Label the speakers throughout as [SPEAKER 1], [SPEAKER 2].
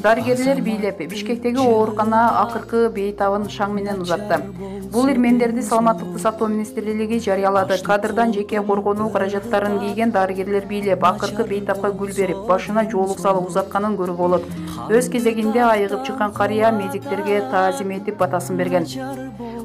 [SPEAKER 1] Дарыгерлер бийлеп Бишкектеги оорукана акыркы бейтабын шаң менен узатты. Бул ирмендерди Саламаттыкты сактоо министрлиги жарыялады. Кадрдан жеке коргонуу каражаттарын кийген дарыгерлер бийлеп акыркы бейтапка гүл берип, башына жоолук салып узатканын көрүүгө болот. Өз кезегинде айыгып чыккан карыя медиктерге таазим этип батасын берген.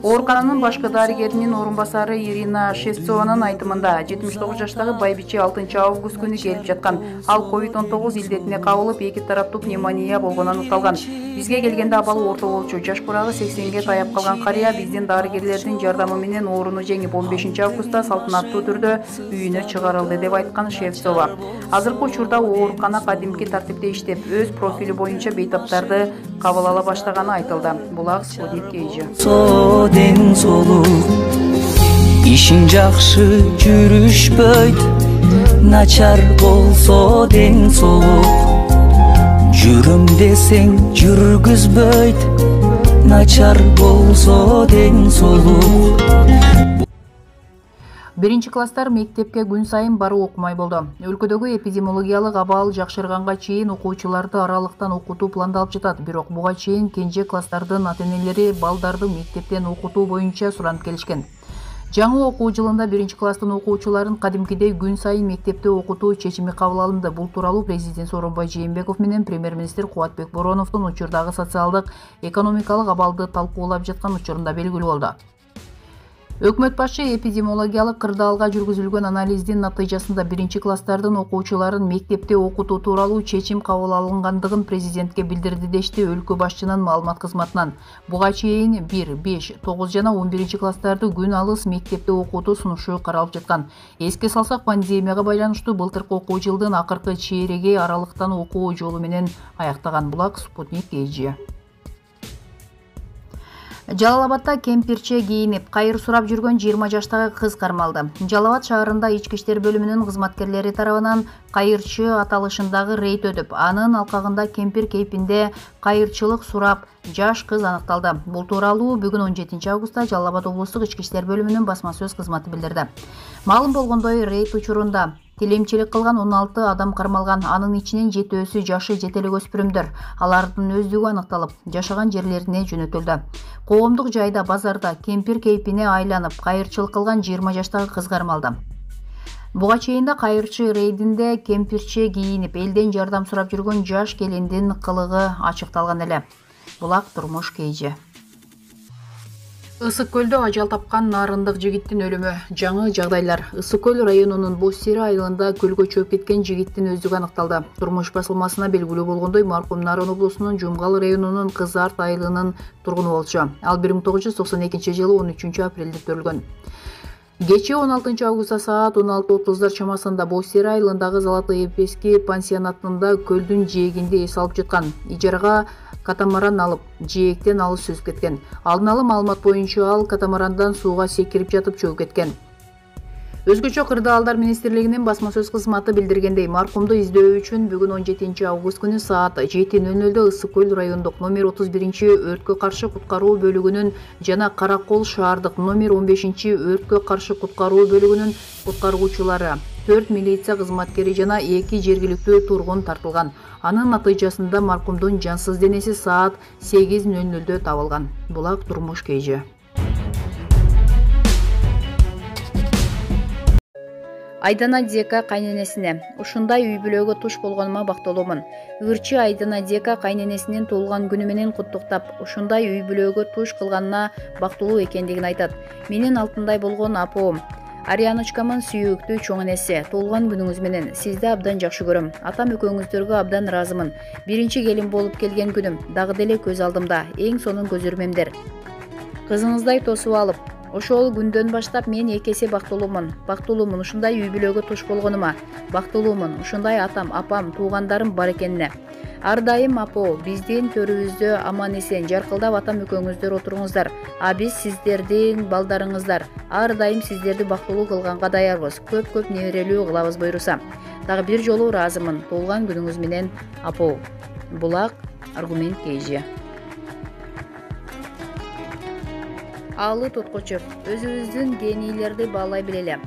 [SPEAKER 1] Оорукананын башкы дарыгеринин орун басары Ирина Шевцованын айтымында 79 жаштагы Байбиче 6 август күнү келип жаткан. Ал COVID-19 илдетине кабылып, эки тараптуу пневмония болгону аныкталган. Бизге келгенде абалы орто болчу. Жаш курагы 80ге таяп калган карыя биздин дарыгерлердин жардамы менен ооруну жеңип 15 августта салтанаттуу түрдө үйүнө чыгарылды деп айткан Шевцова. Азыркы учурда оорукана кадимки тартипте иштеп, өз профили боюнча бейтаптарды кабыл ала баштаганы айтылды. Булак Спутник KG.
[SPEAKER 2] Ден солук ишиң жакшы жүрүшпөйт, начар болсо ден соолук жүрөм десең жүргүзбөйт, начар болсо ден соолук.
[SPEAKER 1] Биринчи класстар мектепке күн сайын баруу окумай болду. Өлкөдөгү эпидемиологиялык абал жакшырганга чейин окуучуларды аралыктан окутуу пландалып жатат. Бирок буга чейин кенже класстардын ата-энелери балдарды мектептен окутуу боюнча суранып келишкен. Жаңы окуу жылында биринчи класстын окуучуларын кадимкидей күн сайын мектепте окутуу чечими кабыл алынды. Бул тууралуу президент Сооронбай Жээнбеков менен премьер-министр Кубатбек Бороновдун учурдагы социалдык, экономикалык абалды талкуулап жаткан учурунда белгилүү болду. Өкмөт башы эпидемиологиялык кырдаалга жүргүзүлгөн анализдин натыйжасында биринчи класстардын окуучуларын мектепте окутуу тууралуу чечим кабыл алынгандыгын президентке билдирди дешти өлкө башчынын маалымат кызматынан. Буга чейин 1, 5, 9 жана 11 класстарды күн алыс мектепте окутуу сунушу каралып жаткан. Эске салсак, пандемияга байланыштуу былтыркы окуу жылдын акыркы чейреги аралыктан окуу жолу менен аяктаган. Булак Спутник KG. Жалал Абадда кемпирче кийинип, кайыр сурап жүргөн 20 жаштагы кыз кармалды. Жалал Абад шаарында ички иштер бөлүмүнүн кызматкерлери тарабынан кайырчы аталышындагы рейд өтүп, анын алкагында кемпир кейпинде кайырчылык сурап жаш кыз аныкталды. Бул тууралуу бүгүн 17 августта Жалал Абад облустук ички иштер бөлүмүнүн басма сөз кызматы билдирди. Маалым болгондой, рейд учурунда тилемчилик кылган 16 адам кармалган. Анын ичинен 7-өсү жашы жете элек өспүрүмдөр. Алардын өздүгү аныкталып, жашаган жерлерине жөнөтүлдү. Коомдук жайда, базарда кемпир кейпине айланып, кайырчылык кылган 20 жаштагы кыз кармалды. Буга чейин да кайырчы рейдинде кемпирче кийинип, элден жардам сурап жүргөн жаш келиндин кылыгы ачыкталган эле. Булак Турмуш KG. Ысык көлдө ажал тапкан нарындык жигиттин өлүмү. Жаңы жагдайлар. Ысык көл районунун Босери айылында көлгө чөп кеткен жигиттин өздүгү аныкталды. Турмуш басылмасына белгилүү болгондой, маркум Нарын облусунун Жумгал районунун Кызарт айылынын тургуну болчу. Ал 1992-жылы 13 апрелде төрөлгөн. Кечээ 16 августта саат 16:30 чамасында Босери айылындагы Золотой Пески пансионатында көлдүн жээгинде эс алып жаткан. Ижарага катамаран алып, жээктен алыс сүзүп кеткен. Алдын ала маалымат боюнча ал катамарандан сууга секирип жатып чөгүп кеткен. Өзгөчө кырдаалдар министрлигинин басма сөз кызматы билдиргендей, маркумду издөө үчүн бүгүн 17 август күнү саат 7:00 Ысык көл райондук номер 31 өрткө каршы куткаруу бөлүгүнүн жана Каракол шаардык номер 15 өрткө каршы куткаруу бөлүгүнүн куткаруучулары, 4 милиция кызматкери жана 2 жергиликтүү тургун тартылган. Анын натыйжасында маркумдун жансыз денеси саат 8:00 табылган. Булак Турмуш KG. Айдана Дека кайненесине: ушундай үй бүлөгө туш болгонума бактылуумун. Ырчы Айдана Дека кайненесинин туулган күнү менен куттуктап, ушундай үй бүлөгө туш кылганына бактылуу экендигин айтат. Менин алтындай болгон апоом, Арияночкамын сүйүктүү чоң энеси, туулган күнүңүз менен сизди абдан жакшы көрөм. Атам экөөңүздөргө абдан ыраазымын. Биринчи келин болуп келген күнүм дагы деле көз алдымда, эң сонун көзүрмемдер. Кызыңыздай тосуп алып, ошол күндөн баштап мен эки эсе бактылуумун. Бактылуумун ушундай үй бүлөгө туш болгонума. Бактылуумун ушундай атам, апам, туугандарым бар экенине. Ар дайым апо, биздин төрүбүздө аман эсен жаркылдап атам экөөңүздөр отуруңуздар. А биз сиздердин балдарыңыздар. Ар дайым сиздерди бактылуу кылганга даярбыз. Көп неберелүү кылабыз буйруса. Дагы бир жолу ыраазымын. Туулган күнүңүз менен апо. Булак Аргумент KG. Алы Тоткочев: өзүбүздүн генийлерди баалай билели.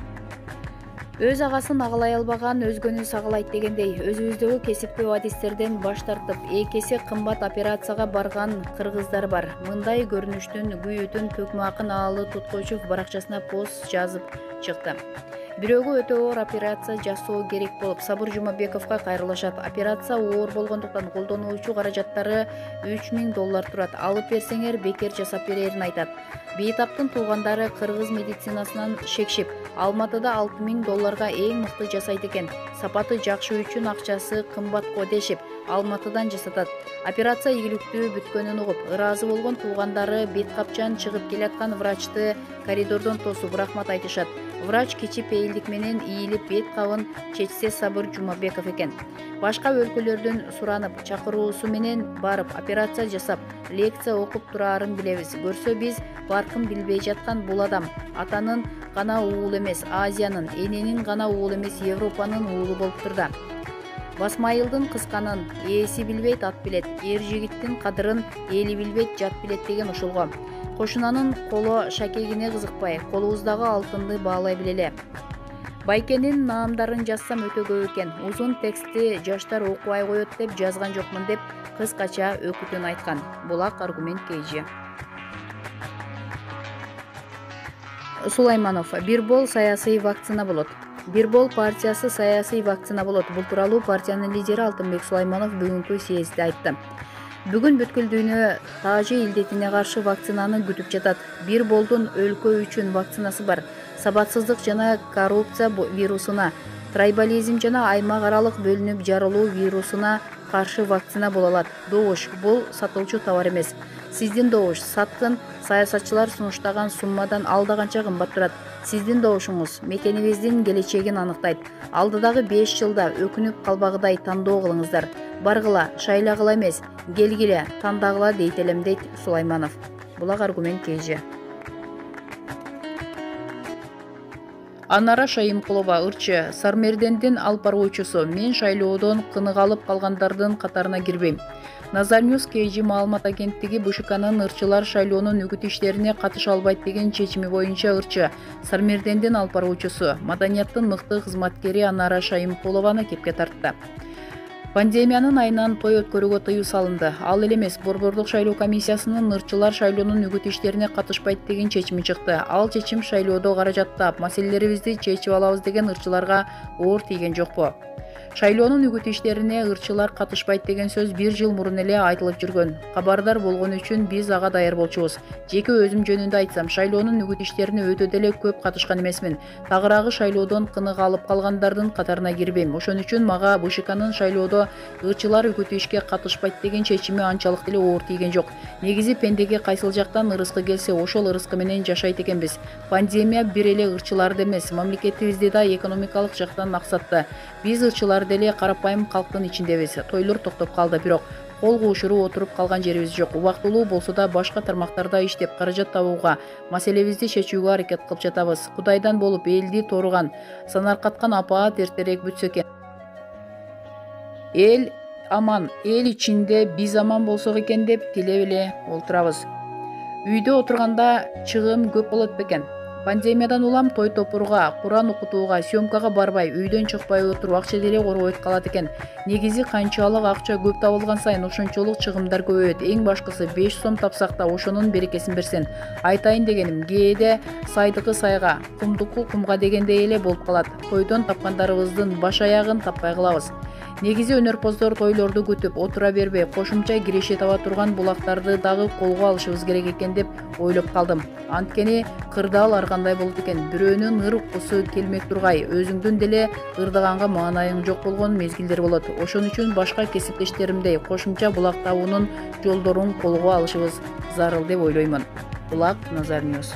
[SPEAKER 1] Өз агасын агалай албаган өзгөнү сагалайт дегендей, өзүбүздөгү кесиптүү адистерден баш тартып, экеси кымбат операцияга барган кыргыздар бар. Мындай көрүнүштүн күйүтүн Көкмакын Аалы Туткучев баракчасына пост жазып чыкты. Бирөөгө өтө оор операция жасоо керек болуп, Сабыр Жумабековго кайрылышат. Операция оор болгондуктан колдонуучу каражаттары $3000 турат. Алып берсеңер бекер жасап берерин айтат. Бейтаптын туугандары кыргыз медицинасынан шекшип, Алматыда $6000 эң мыкты жасайт экен. Сапаты жакшы үчүн акчасы кымбатко дешип, Алматыдан жасатат. Операция ийгиликтүү бүткөнүн угуп, ыраазы болгон туугандары бет капчан чыгып келаткан врачты коридордон тосуп рахмат айтышат. Врач кичи пейилдик менен ийилип бет кабын чечсе Сабыр Жумабеков экен. Башка өлкөлөрдөн суранып, чакыруусу менен барып операция жасап, лекция окуп турарын билебиз. Көрсө биз баркын билбей жаткан бул адам атанын гана уулу эмес, Азиянын, эненин гана уулу эмес, Европанын уулу болуптур да. Басмайылдын кысканын ээси билбейт, ат билет. Эр жигиттин кадырын эли билбейт, жат билет деген ушулго. Кошунанын коло шакегине кызыкпай, колубуздагы алтынды баалай билели. Байкенин наамдарын жазсам өтө көп экен. Узун текстти жаштар окубай коет деп жазган жокмун деп кыскача өкүтүн айткан. Булак аргумент KG. Сулайманов: бир бол саясий вакцина болот. Бир бол партиясы саясий вакцина болот. Бул тууралуу партиянын лидери Алтынбек Сулайманов бүгүнкү съездде айтты. Бүгүн бүткүл дүйнө таажы илдетине каршы вакцинаны күтүп жатат. Бир болдун өлкө үчүн вакцинасы бар. Сабатсыздык жана коррупция вирусуна, трайбализм жана аймак аралык бөлүнүп жарылуу вирусуна каршы вакцина боло алат. Добуш бул сатылчу товар эмес. Сиздин добуш саткын саясатчылар сунуштаган суммадан алда канча кымбат турат. Сиздин добушуңуз мекенибиздин келечегин аныктайт. Алдыдагы 5 жылда өкүнүп калбагыдай тандоо кылыңыздар. Баргыла, шайлагыла эмес, келгиле, тандагыла дейт элем, дейт Сулайманов. Булак аргумент KG. Анара Шайымкулова, ырчы, Сармердендин алып баруучусу. Мен шайлоодон кыныгалып калгандардын катарына кирбейм. Nazar News KG маалымат агенттиги БШКнын ырчылар шайлоонун үгүт иштерине катыша албайт деген чечими боюнча ырчы, Сармердендин алып баруучусу, маданияттын мыкты кызматкери Анара Шайымкулованы кепке тартты. Пандемиянын айынан той өткөрүүгө тыюу салынды. Ал эле эмес, Борбордук шайлоо комиссиясынын ырчылар шайлоонун үгүт иштерине катышпайт деген чечими чыкты. Ал чечим шайлоодо каражаттап, маселелерибизди чечип алабыз деген ырчыларга оор тийген жокпу? Шайлоонун үгүт иштерине ырчылар катышпайт деген сөз 1 жыл мурун эле айтылып жүргөн. Кабардар болгон үчүн биз ага даяр болчубуз. Жеке өзүм жөнүндө айтсам, шайлоонун үгүт иштерине өтө деле көп катышкан эмесмин. Тагыраагы шайлоодон кыныга алып калгандардын катарына кирбейм. Ошон үчүн мага БШКнын шайлоодо ырчылар үгүт ишке катышпайт деген чечими анчалык деле оор тийген жок. Негизи пендеге кайсыл жактан ырыскы келсе, ошол ырыскы менен жашайт экенбиз. Пандемия бир эле ырчыларды эмес, мамлекетибизди да экономикалык жактан аксатты. Биз ырчылар деле карапайым калктын ичиндебиз. Тойлор токтоп калды, бирок кол куушуруп отуруп калган жерибиз жок. Убактылуу болсо да башка тармактарда иштеп каражат табууга, маселебизди чечүүгө аракет кылып жатабыз. Кудайдан болуп элди торуган, санаркаткан апаат эртерээк бүтсө экен. Эл аман, эл ичинде биз аман болсок экен деп тилеп эле олтурабыз. Үйдө отурганда чыгым көп болот бекен. Пандемиядан улам той топурга, Куран окутууга, съемкага барбай, үйдөн чыкпай отуруп акча деле корбойт калат экен. Негизи канчалык акча көп табылган сайын ошончолук чыгымдар көбөйөт. Эң башкысы 5 сом тапсак да ошонун берекесин берсин. Айтайын дегеним, кээде сайдыкы сайга, кумдуку кумга дегендей эле болуп калат. Тойдон тапкандарыбыздын баш аягын таппай калабыз. Негизи өнөрпоздор тойлорду күтүп отура бербей, кошумча киреше таба турган булактарды дагы колго алышыбыз керек экен деп ойлоп калдым. Анткени кырдаал ар кандай болот экен. Бирөөнүн ыр уккусу келмек тургай, өзүңдүн деле ырдыганга маанайың жок болгон мезгилдер болот. Ошон үчүн башка кесиптештеримдей кошумча булак табуунун жолдорун колго алышыбыз зарыл деп ойлоймун. Булак Nazar News.